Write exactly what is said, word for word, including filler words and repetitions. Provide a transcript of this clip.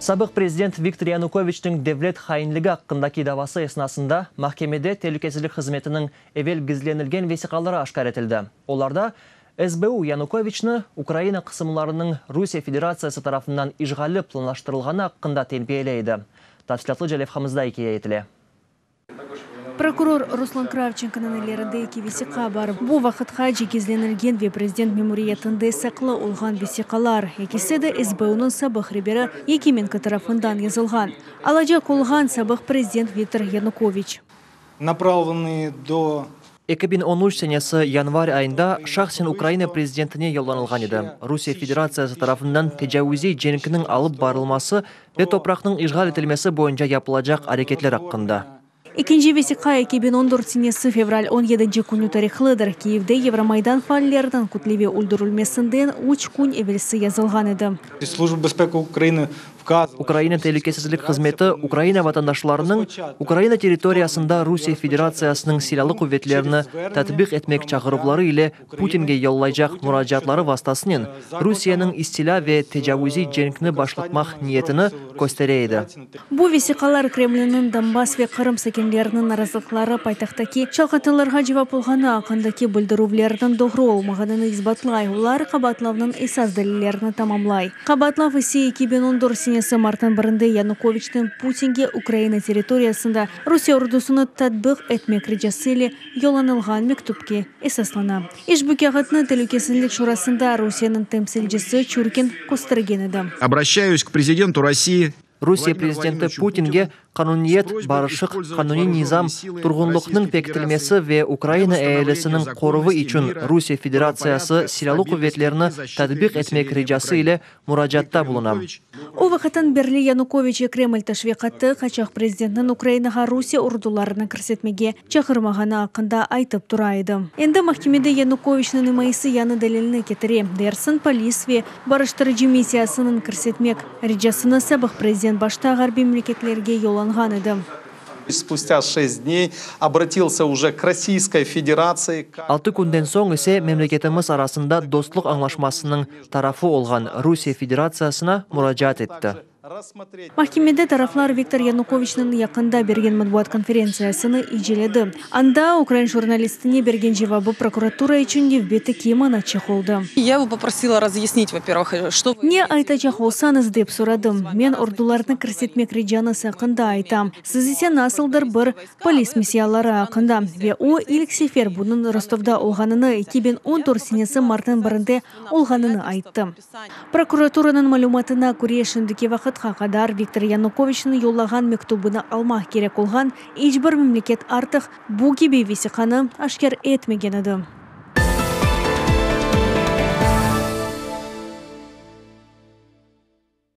Sabıq prezident Viktor Yanukoviçniñ devlet hainligi aqqındaki davası esnasında mahkemede Telükesizlik hızmetiniñ evel gizlenilgen vesiqaları aşkâr etildi. Olarda S B U Yanukoviçni Ukraina qısımlarınıñ Rusiye Federatsiyası tarafından işğali planlaştırılğanı aqqında tenbiyeley edi. Tafsilâtlıca levhamızda ikâye etile. Prokuror Ruslan Kravçenkonıñ ellerinde eki vesiqa bar. Bu vaqıtqace gizlenilgen ve prezident memuriyetinde saqlı olğan vesiqalar. Ekisi de S B U'nıñ sabıq reberi Yakimenko tarafından yazılğan. Alacaq olğan sabıq prezident Viktor Yanukoviç. Направленные до eki biñ on üç senesi yanvar ayında şahsen Ukraina prezidentine yollanılğan edi. Rusiye Federatsiyası tarafından tecavuziy cenkniñ alıp barılması ve topraqnıñ işğal etilmesi boyunca yapılacaq areketler aqqında. Ekinci vesiqa eki biñ on dört senesi fevral on yedinci künü tarihlıdır. Kiyevde Евромайдан faalleriniñ kütleviy öldürilmesinden üç kün evelsi yazılğan edi. Служба безпеки України вказувала, Ukraina Telükesizlik hızmeti Ukraina vatandaşlarınıñ Ukraina territoriyasında Rusiye Federatsiyasınıñ silâlı quvetlerini tatbiq etmek çağıruvları ile Putinge yollaycaq muracaatları vastasınen Rusiyeniñ istilâ ve tecavuziy cenkni başlatmaq niyetini köstere edi. Bu vesiqalar Kremliniñ Donbass ve Qırım sakinleriniñ narazılıqları paytahttaki çalqatılarğa cevap olğanı aqqındaki bildirüvlerniñ doğru olmağanını isbatlay. Olar qabaatlavnıñ esas delillerini tamamlay. Qabaatlav ise eki biñ on dört senesi martnıñ birinde Yanukoviçniñ Putinge Ukraina territoriyasında Rusiye ordusını tatbiq etmek ricası ile yollanılğan mektüpke esaslana. İşbu kâğıtnı Telükesizlik Şurasında Rusiyeniñ temsilcisi Çurkin köstergen edi. Обращаюсь к президенту России Rusiye prezidenti Putinge qanuniyet, barışıq, qanuniy nizam, turğunlıqnıñ pekitilmesi ve Ukraina ealisiniñ qoruvı içün Rusiye Federatsiyası silâlı quvetlerini tatbiq etmek ricası ile muracaatta bulunam. O vaqıttan berli Yanukoviç Kreml teşviqatı qaçaq prezidentniñ Ukrainağa Rusiye ordularını kirsetmege çağırmağanı aqqında aytıp tura edi. Endi mahkemede Yanukoviçniñ imayesi yañı delilni ketire. Dersiñ, polis ve barıştırıcı missiyasınıñ kirsetmek ricasını sabıq prezident başta ğarbiy memleketlerge yollanğan edi. Спустя шесть дней обратился уже к Российской Федерации. Altı künden soñ ise memleketimiz arasında dostluq añlaşmasınıñ tarafı olğan Rusiye Federatsiyasına muracaat etti. Рассмотреть Mahkemede taraflar Viktor Yanukoviçniñ yaqında bergen matbuat konferentsiyasını inceledi. Anda ukrain jurnalistine bergen cevabı prokuratura içün nevbetteki manaçıq oldı. Я его попросила разъяснить, во-первых, что вы Ne aytacaq olsañız dep soradım. Men ordularnı kirsetmek ricañız aqqında aytam. Siz ise nasıldır bir polis missiyaları aqqında. Ve o ilk sefer bunıñ Rostovda olğanını eki biñ on dört senesi martnıñ birinde olğanını ayttı. Prokuraturanıñ malümatına köre, şimdiki vaqıtqa qadar Viktor Yanukoviçniñ yollağan mektübini almaq kerek olğan iç bir memleket artıq bu kibi vesiqanı aşkâr etmegen edi.